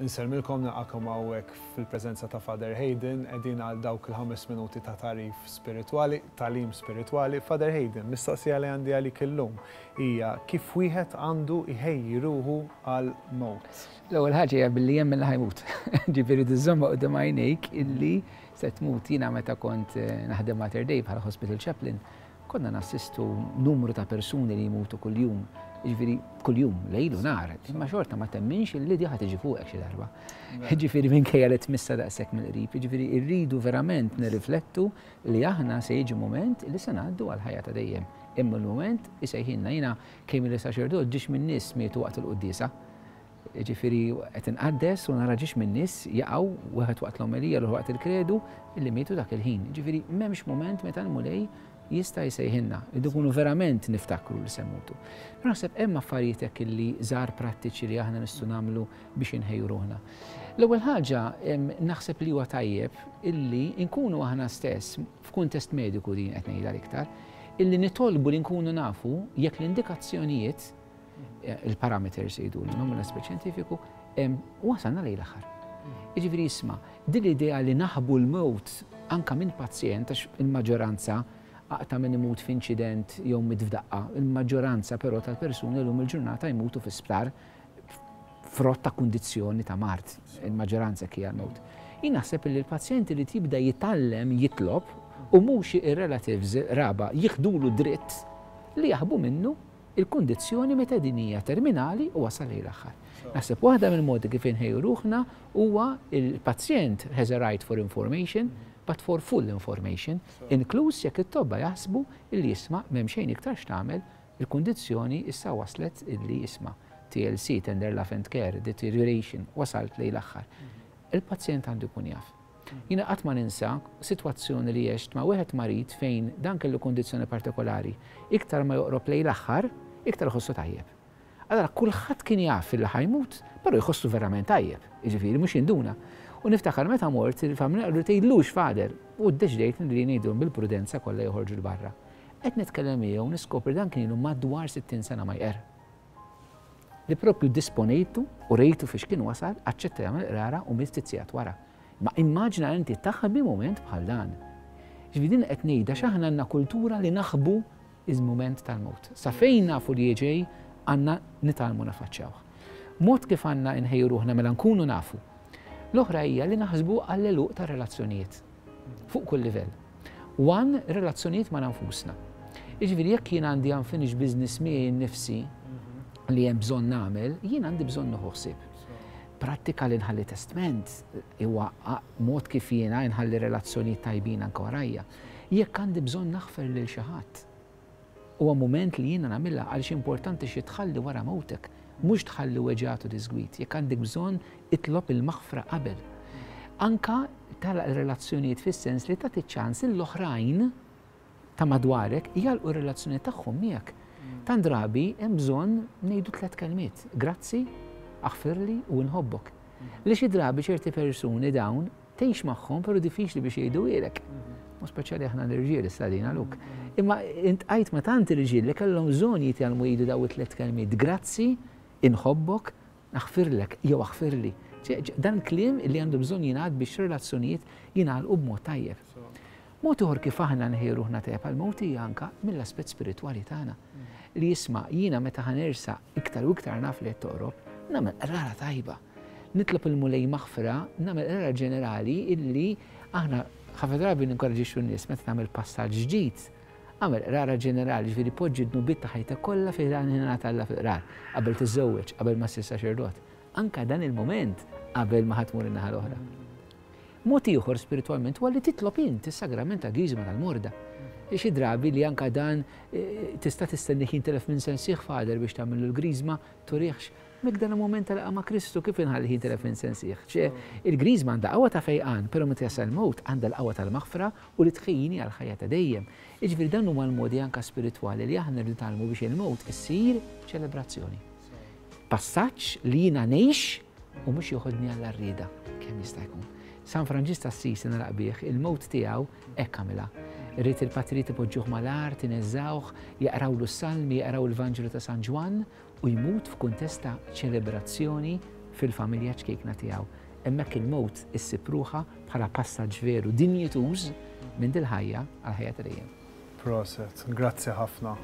Insellmilkom nilqakom hawnhekk fil-preżenza ta' Father Hayden, qegħdin għal dawk il-ħames minuti ta' tagħrif spiritwali, tagħlim spiritwali. Father Hayden, mistoqsija li għandi għalik illum hija kif wieħed għandu jħejji ruħu għal mewt? L-ewwel ħaġa hija billi jemmen li ħajmut. Ġifieri tiżżommha quddiem għajnejk illi se tmut. Jiena meta kont eh, naħdem Mater Dei bħala hospital chaplain, Konna nassistu numru ta' persuni li jmutu kuljum, jiġifieri kuljum, lejl u nhar, imma xorta ma temminx illi di ħa tiġi fuqek xi darba. Jiġifieri minkejja li tmissha daqshekk mill-qrib, jiġifieri rridu verament nirriflettu li aħna se jiġi mument li se ngħaddu għall-ħajja ta' dejjem. Imma l-mument isejħilna jiena kemm ili saċerdot ġiex minn nies mietu waqt il-quddiesa. Jiġifieri qed inqaddes u nara ġiex minn nies jaqgħu wieħed waqt l-omelija l waqt il-kredu illi mietu dak il-ħin. Jiġifieri m'hemmx mument meta l-Mulej jista' jsejħilna. Irridu nkunu verament niftakru li se mmutu. Però naħseb hemm affarijiet hekk illi żgħar prattiċi li aħna nistgħu nagħmlu biex inħejju ruħna. L-ewwel ħaġa naħseb li huwa tajjeb illi nkunu aħna stess f'kuntest mediku din qed ngħidha l-iktar, illi nitolbu li nkunu nafu jekk l-indikazzjonijiet il-parameters jgħidulhom mill-aspett xjentifiku, wasalna lejn l-aħħar. Jiġifieri isma' din l-idea li naħbu l-mewt anka minn pazjent għax il-maġġoranza aqta' min imut f'inċident jew miet f'daqqa, il-maġġoranza però tal-persuni llum il-ġurnata jmutu fi sptar frott ta' kundizzjoni ta' mard, il-maġġoranza hekk hija l-mewt. Jien naħseb li l-pazjent irid jibda jitgħallem jitlob u mhux ir-relatives raba jieħdulu dritt li jaħbu minnu il-kundizzjoni meta din hija terminali u wasal lejn l-aħħar. Naħseb waħda mill-modi kif inħejju ruħna huwa il-pazjent has a right for information, but for full information, inkluż jekk it-tobba jaħsbu illi isma' m'hemm xejn iktar x'tagħmel, il-kundizzjoni issa waslet illi isma' TLC, tender love and care, deterioration, wasalt lejn l-aħħar. Il-pazjent għandu jkun jaf. Jiena qatt ma ninsa sitwazzjoni li għext ma' wieħed marid fejn dan kellu kundizzjoni partikolari. Iktar ma joqrob lejn l-aħħar, iktar iħossu tajjeb. Allura kulħadd kien jaf li ħa jmut, però jħossu verament tajjeb, jiġifieri mhux jinduna. U niftakar meta mort, il-familja qalu tgħidlux Father, u ddeċidejt li ngħidilhom bil-prudenza kollha joħorġu 'l barra. Qed nitkellem miegħu niskopri dan kien ilu madwar 60 sena ma jqerr. Li propju ddisponejtu u rejtu fiex kien wasal, aċċetta jagħmel qrara u miet ftit sigħat wara. Ma immaġina inti taħbi mument bħal dan. Ġifieri din qed ngħidha għax aħna għandna kultura li naħbu il-mument tal-mewt. Sa fejn nafu li ġej għandna nitgħallmu nafaċċjawh. Mod kif għandna nħejju ruħna mela nkunu nafu. L-oħra hija li naħsbu għall-għeluq tar-relazzjonijiet fuq kull livell. One, relazzjonijiet ma' nfusna. Jiġifieri jekk jien għandi unfinished business miegħi nnifsi li hemm bżonn nagħmel, jien għandi bżonn nieħu ħsieb. Prattika li nħalli testment huwa mod kif jiena nħalli relazzjonijiet tajbin anke warajja. Jekk għandi bżonn naħfer lil xi ħadd, Huwa mument li jiena nagħmilha għaliex importanti xi tħalli wara mewtek, mhux tħalli weġgħat u diżgwid. Jekk għandek bżonn, itlob il-maħfra qabel. Anka tagħlaq ir-relazzjonijiet fis-sens li tagħti ċans lill-oħrajn ta' madwarek jagħlqu r-relazzjoni tagħhom miegħek. Tant drabi hemm bżonn ngħidu tlett kelmiet, grazzi, aħfirli u inħobbok. Li xi drabi ċerti persuni dawn Tgħix magħhom però diffiċli biex jgħiduhielek. U speċjali aħna l-irġiel issa din għaluk. Imma intqajt ma' tant irġiel li kellhom bżonn jitgħallmu jgħidu daw it-tliet kelmiet. Grazzi, inħobbok, naħfirlek jew aħfirli. Dan kliem li għandu bżonn jingħad biex relazzjonijiet jingħalqu b'mod tajjeb. Mod ieħor kif aħna nħejju ruħna tajjeb għall-mewt hija anke mill-aspett spiritwali tagħna. Li isma' jiena meta ħa nersaq iktar u iktar naf li qed toqrob, nagħmel qrara tajba. Nitlob il-Mulej maħfra, nagħmel qrara ġenerali illi aħna ħafna drabi ninkoraġixxu n-nies meta tagħmel passaġġ ġdid, agħmel qrara ġenerali, ġifieri poġġi d-dnubiet ta' ħajtek kollha fi ħdan ħniena t'Alla fil-qrar, qabel tiżżewweġ, qabel ma ssir saċerdot. Anke dan il-mument qabel ma ħa tmur in-naħa l-oħra. Mod ieħor spiritwalment huwa li titlob int is-sagrament tal-Griżma tal-Morda. Xi drabi li anke dan tista' tistennih jintilef minn sensih Father biex tagħmillu l-Griżma, turihx. Mek dan il-mument ta' laqgħa ma' Kristu kif inħallih jintilef minn sensih? Ċe, il-Griżma għandha qawwa ta' fejqan, però meta jasal il-mewt għandha l-qawwa tal-maħfra u li tħejjini għall-ħajja ta' dejjem. Jiġifieri dan huma l-modi anke spiritwali li aħna rridu nitgħallmu biex il-mewt issir ċelebrazzjoni. Passaġġ li jiena ngħix u mhux joħodni għall-għarrieda kemm jista' jkun. San Franġisk t'Assisi nagħlaq bih, il-mewt tiegħu hekk għamilha. Ried il-patrijiet ipoġġuh mal-art, ineżżgħuh, jaqrawlu s-salmi, jaqraw il-Vanġelu ta' San Ġwann u jmut f'kuntest ta' ċelebrazzjoni fil-familja ċkejkna tiegħu. Hemmhekk il-mewt issib ruħha bħala passaġġ veru dinjituż minn dil-ħajja għall-ħajja ta' dejjem. Proset, grazzi ħafna.